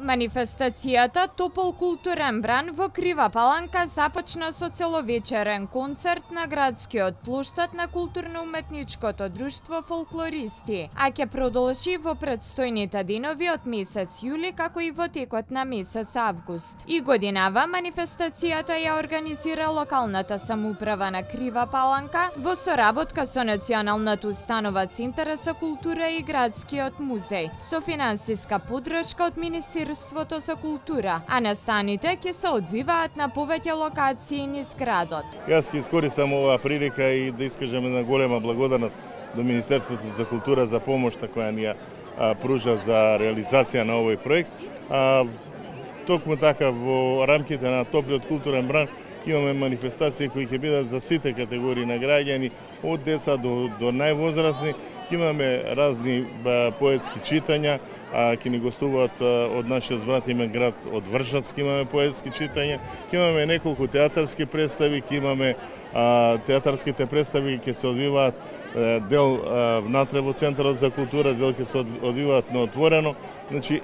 Манифестацијата Топол културен бран во Крива Паланка започна со целовечерен концерт на градскиот плоштад на културно-уметничкото друштво Фолклористи, а ќе продолжи во предстојните денови од месец јули како и во текот на месец август. И годинава манифестацијата ја организира локалната самоуправа на Крива Паланка во соработка со Националната установа Центар за култура и градскиот музеј, со финансиска поддршка од Министерството за култура, а настаните ќе се одвиваат на повеќе локации низ градот. Јас ќе искористам оваа прилика и да искажам една голема благодарност до Министерството за култура за помошта која ни ја пружа за реализација на овој проект. Токму така во рамките на Топлиот културен бран ќе имаме манифестации кои ќе бидат за сите категории на граѓани, од деца до највозрасни. Ќе имаме разни поетски читања, ќе ни гостуваат од нашиот братимен град од Вршац, ќе имаме поетски читања, ќе имаме неколку театарски представи, ќе имаме театарските представи ќе се одвиваат дел внатре во Центарот за култура, дел ќе се одвиваат на отворено. Значи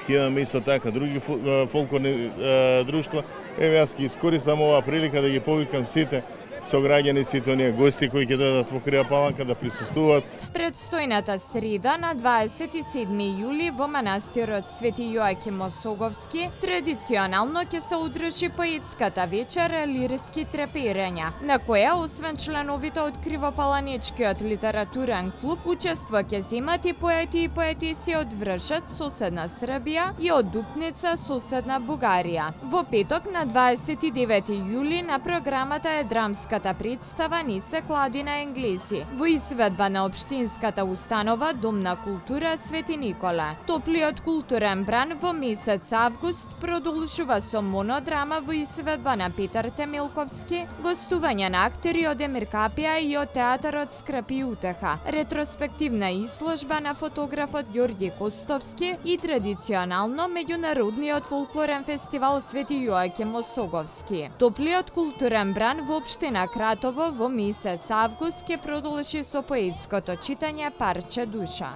ќе имаме исто така други фолклорни друштва. Еве јас ќе искористам оваа прилика да ги повикам сите сограѓани, сите оние гости кои ќе дојдат во Крива Паланка да присуствуваат. Предстојната среда на 27 јули во манастирот Свети Јоаким Осоговски традиционално ќе се одржи поетската вечер Лирски треперења, на која освен членовите од Кривопаланечкиот литературен клуб учество ќе земат и поети и поетиси од Вршац, соседна Србија, и од Дупница, соседна Бугарија. Во петок на 29 јули на програмата е драмска представа Нисе Кладина Енглези во изведба на општинската установа Дом на култура Свети Никола. Топлиот културен бран во месец август продолжува со монодрама во изведба на Петар Темилковски, гостување на актери од Емир Капија и од театарот Скрапи утеха, ретроспективна изложба на фотографот Ѓорѓи Костовски и традиционално меѓународниот фолклорен фестивал Свети Јоаким Осоговски. Топлиот културен бран во општина Кратово во месец август ќе продолжи со поетското читање Парче душа.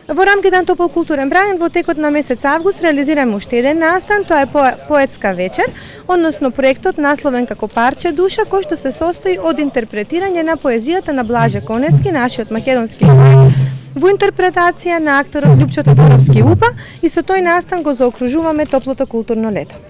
Во рамките на Топол културен бран во текот на месец август реализираме уште еден настан, тоа е поетска вечер, односно проектот насловен како Парче душа, кој што се состои од интерпретирање на поезијата на Блаже Коневски, нашиот македонски поет, во интерпретација на акторот Љупчо Тодоровски УПА, и со тој настан го заокружуваме топлото културно лето.